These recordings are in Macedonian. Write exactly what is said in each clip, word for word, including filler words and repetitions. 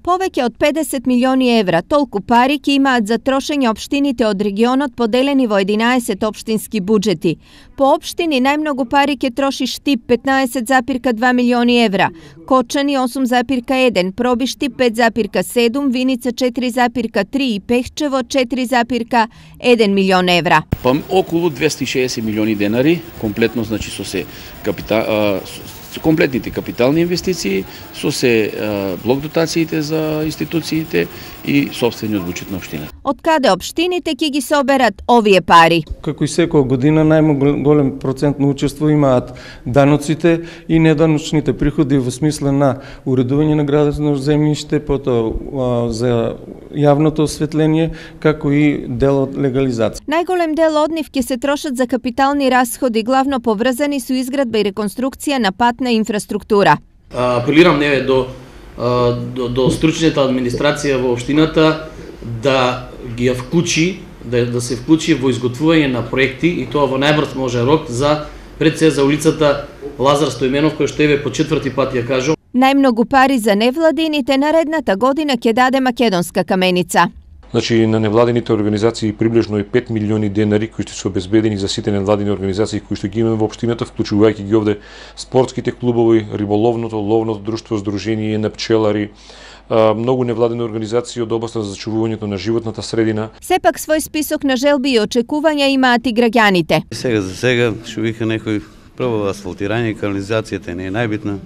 Повеќе од педесет милиони евра, толку пари ќе имаат за трошење општините од регионот поделени во единаесет општински буџети. По општини најмногу пари ќе троши Штип петнаесет зарез два милиони евра, Кочани осум зарез еден, Пробишти пет зарез седум, Виница четири зарез три и Пехчево четири зарез еден милион евра. Па околу двесте и шеесет милиони денари, комплетно значи со се капитал комплетните капитални инвестиции, со се блок дотациите за институциите и сопствениот буџет на општината. Од каде општините ќе ги соберат овие пари? Како и секоја година најголем процент на учество имаат даноците и неданочните приходи во смисла на уредување на градно земјиште, потоа за јавното осветление, како и дел од легализација. Најголем дел од нив ќе се трошат за капитални расходи, главно поврзани со изградба и реконструкција на патна инфраструктура. Апелирам неве до, до, до стручната администрација во општината да ги вклучи, да, да се вклучи во изготвување на проекти и тоа во најбрз може рок за пред се за улицата Лазар Стојменов, кој што еве по четврти пат ја кажам. Најмногу пари за невладините наредната година ќе даде Македонска каменица. Значи, на невладените организации приближно и пет милиони денари кои што се обезбедени за сите невладени организации кои што ги имаме во општината, вклучувајќи ги овде спортските клубови, риболовното, ловното друштво, здружение на пчелари, многу невладени организации од областа за зачувувањето на животната средина. Сепак свој список на желби и очекувања имаат и граѓаните. Сега за сега што вика некој прво асфалтирање, канализацијата не е најбитна.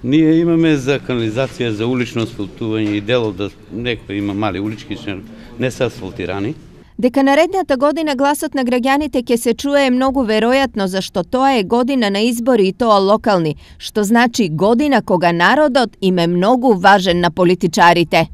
Ние имаме за канализација, за улично асфалтување и дело да некој има мали улички, не се асфалтирани. Дека наредната година гласот на граѓаните ќе се чуе е многу веројатно, зашто тоа е година на избори и тоа локални, што значи година кога народот им е многу важен на политичарите.